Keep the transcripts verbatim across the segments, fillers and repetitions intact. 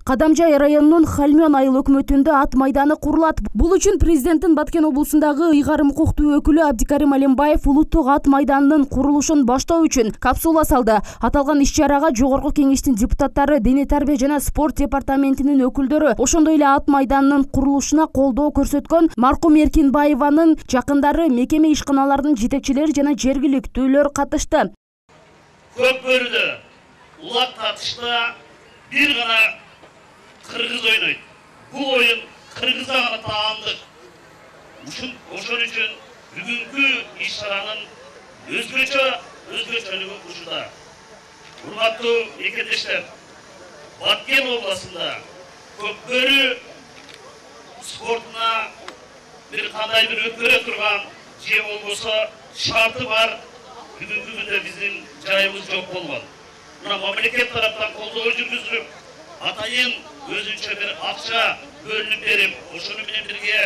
Кадамжай районунун Хальмён айыл өкмөтүндө ат майданы курулат. Бул үчүн президенттин Баткен облусундагы ыйгарым укуктуу өкүлү Абдикарим Алимбаев улуттук ат майданынын курулушун баштоо үчүн капсула салды. Аталган иш-чарага Жогорку Кеңештин депутаттары, Дене тарбия жана спорт департаментинин өкүлдөрү, ошондой эле ат майданынын курулушуна колдоо көрсөткөн Маркум Эркинбаеванын жакындары, мекеме ишканаларынын жетекчилери жана жергиликтүүлөр катышты. Көкбөрүдө улак татышта бир гана кыргыз ойнойт. Бул оюн кыргызга гана таандык. Ошон үчүн бүгүнкү иш-чаранын өзгөчө өзгөчөлүгү ушуда. Урматтуу мекендештер, Баткен областында көкбөрү спортуна бир кандай бир өткөрө турган же болбосо шарты бар бүгүнкү күндө биздин жайыбыз жок болгон. Мына мамлекет тараптан колдоо жүргүзүлүп, атайын өзүнчө бир акча бөлүнүп берип, ошону менен бирге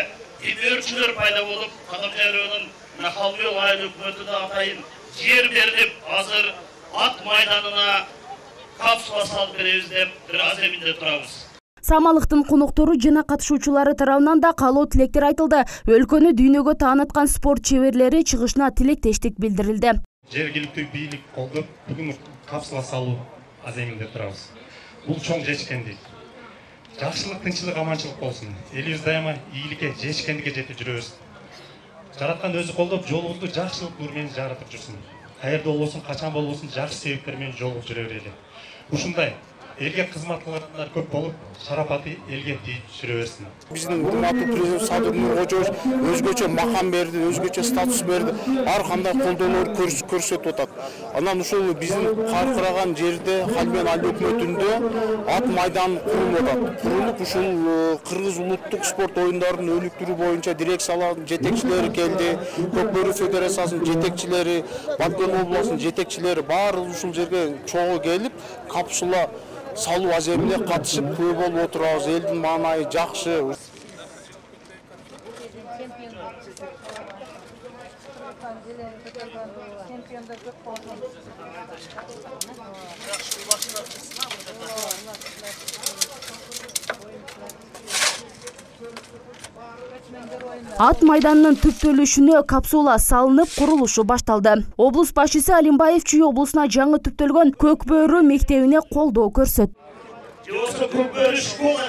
демөөрчүлөр пайда болуп, Кадамжай районунун мына Хальмён айыл өкмөтүндө атайын жер берилип, азыр ат майданына капсула салып беребиз деп бир аз эминде турабыз. Самалыктын коноктору жана катышуучулары тарабынан да каалоо тилектер айтылды. Өлкөнү дүйнөгө тааныткан спорт чеберлери чыгышына тилектештик билдирилди. Жергиликтүү бийлик колдоп, бүгүн капсула салуу аз эминде турабыз. Бул чоң жечкендик. Жакшылык, тынччылык, аманчылык болсун. Элибиз дайыма ийгиликке, жечкендикке жетип жүрөбүз. Жараткан өзү колдоп, жолубузду жакшылык нур менен жаратып жүрсүн. Каерде болбосун, качан болбосун жакшы себептер менен жолугуп жүрө берели. Ушундай элге кызмат кылгандар көп болуп, шарапаты элге тийип жүрө берсин. Биздин урматтуу президент Садыр Нуркожоевич өзгөчө макам берди, өзгөчө статус берди. Ар кандай колдоолор көрсөтүп атат. Анан ушул биздин каркыраган жерде Хальмён айыл өкмөтүндө ат майданы курулуп атат. Курулуп ушул Кыргыз улуттук спорт оюндарынын өнүктүрүү боюнча дирекциялардын жетекчилери келди, Көкбөрү федерациясынын жетекчилери, Баткен областынын жетекчилери баары ушул жерге чогуу келип, капсула салуу аземине катышып көп болуп отурабыз. Элдин маанайы жакшы. Ат майданынын түптөлүшүнө капсула салынып, курулушу башталды. Облус башчысы Алимбаев Чүй облусуна жаңы түптөлгөн Көкбөрү мектебине колдоо көрсөттү. Жосо Көкбөрү школа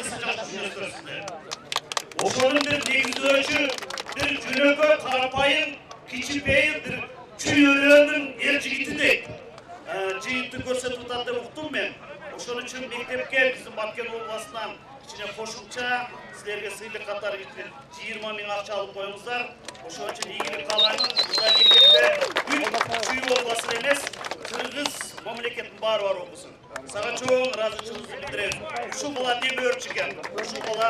ошонун бир негиздөөчү, бир жүрөгө карапайым, кичипейим бир чүйөлөнүн эр жигитидей жыйынтып көрсөтүп атат деп уктум мен. Ошон үчүн мектепке биздин Баткен областынан кичине кошумча силерге сыйлык катары жыйырма миң акча алып коюңуздар. Ошон үчүн ийгилик каалайм. Мындай мектепте бүт Чүй областын эмес, Кыргыз мамлекеттин баары бар окусун. Сага чоң ыраазычылыгымды билдирем. Ушул бала демөөрчү экен, ушул бала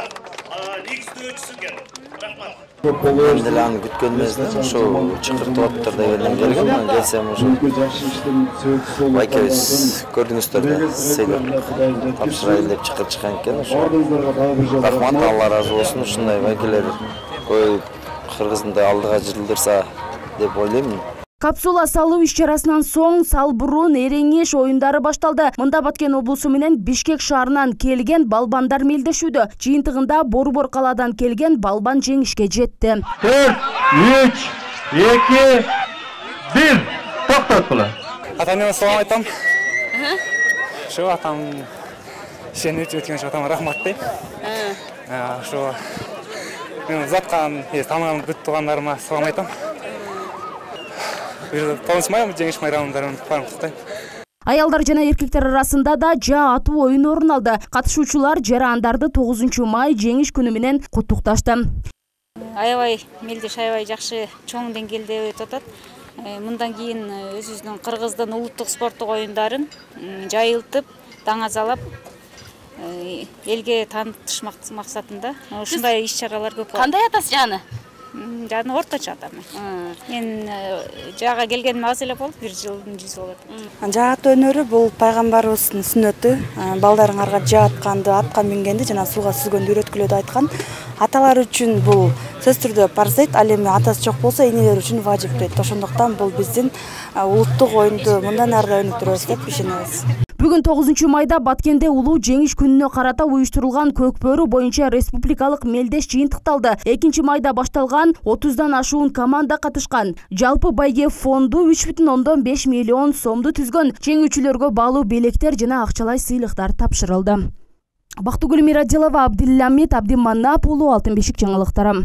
негиздөөчүсү экен. Рахмат. Мен деле аны күткөн эмесмин, ошол чакыртып атыптыр дегенден келгем, келсем ошо байкебиз көрдүңүздөр да, сыйлык тапшырайын деп чакырышкан экен. Ошо рахмат, Алла ыраазы болсун, ушундай байкелер коюп Кыргызды алдыга жылдырса деп ойлойм. Капсула салуу иш-чарасынан соң Салбурун Эреңеш оюндары башталды. Мында Баткен облусу менен Бишкек шаарынан келген балбандар мелдешүүдө. Жыйынтыгында Борбор калаадан келген балбан жеңишке жетти. төрт, үч, эки, бир. Токтот була. Атам салам айтам. Ошо атам сени өткөн үчүн атама рахмат дейм. Ошо мен заткан, таанган бүт туугандарыма салам айтам. Жеңиш майрамындарын куттуктайм. Аялдар жана эркектер арасында да жаа атуу оюн орун алды. Катышуучулар жарандарды тогузунчу май жеңиш күнү менен куттукташты. Аябай мелдеш аябай жакшы чоң деңгээлде өтүп атат. Мындан кийин өзүбүздүн Кыргыздын улуттук спорттук оюндарын жайылтып, даңазалап, элге таанытыш максатында ушундай иш-чаралар көп болот. Кандай атасыз жаны? Жаны орточо атам. Мен жаага келгениме аз эле болду, бир жылдын жүзү болот. Жаа атуу өнөрү бул пайгамбарыбыздын сүннөтү. Балдарыңарга жаа атканды, атка мингенди жана сууга сүзгөндү үйрөткүлө деп айткан. Аталар үчүн бул сөз түрдө парз дейт, ал эми атасы жок болсо энелер үчүн важип дейт. Ошондуктан бул биздин улуттук оюнду мындан ары да өнүктүрөбүз деп ишенебиз. Бүгүн тогузунчу майда Баткенде улуу жеңиш күнүнө карата уюштурулган Көкбөрү боюнча республикалык мелдеш жыйынтыкталды. экинчи майда башталган отуздан ашуун команда катышкан. Жалпы байге фонду үч бүтүн ондон беш миллион сомду түзгөн. Жеңүүчүлөргө баалуу белектер жана акчалай сыйлыктар тапшырылды. Бактыгүл Мирадилова, Абдилламит Абдиманап уулу, Алтын бешик жаңылыктары.